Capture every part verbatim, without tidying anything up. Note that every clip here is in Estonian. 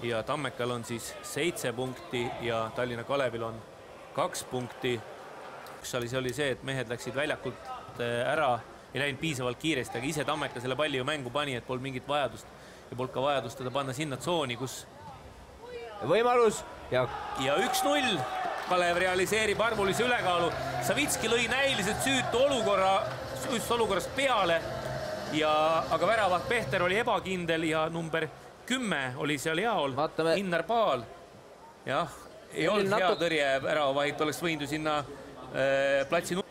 ja Tammekal on siis seitse punkti ja Tallinna Kalevil on kaks punkti. Üks oli, see oli see, et mehed läksid väljakult ära, ei läinud piisavalt kiiresti, aga ise Tammeka selle palli ju mängu pani, et polnud mingit vajadust ja polnud ka vajadust teda panna sinna tsooni, kus võimalus ja, ja üks null. Kalev realiseerib arvulise ülekaalu. Savitski lõi näiliselt süütu olukorra, süütu olukorrast peale, ja, aga väravaht Pehter oli ebakindel ja number kümme oli seal jaol. Vaatame. Innar Paal. Jah, ei olnud hea natuk... tõrje värava, vaid oleks võindu sinna äh, platsi null.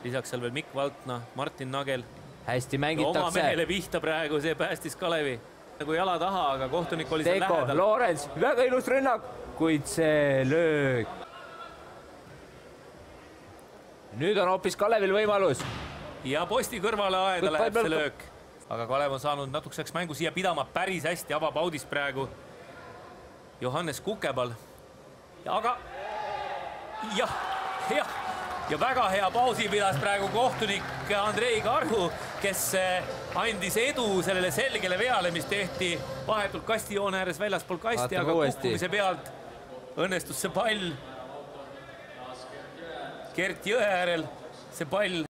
Lisaks seal veel Mikk Valtna, Martin Nagel. Hästi mängitakse. Oma mehele pihta praegu, see päästis Kalevi. Nagu jala taha, aga kohtunik oli seal Teko, lähedal. Loorens, väga ilus rünnak, kuid see löök. Nüüd on hoopis Kalevil võimalus. Ja posti kõrvale aeda läheb see löök. Aga Kalev on saanud natukeseks mängu siia pidama päris hästi, avab audis praegu Johannes Kukebal. Ja aga jah, jah. Ja väga hea pausi pidas praegu kohtunik Andrei Karhu, kes andis edu sellele selgele veale, mis tehti vahetult kastijoone ääres väljaspool kasti, aga kukkumise pealt õnnestus see pall Gert Jõe äärel, see pall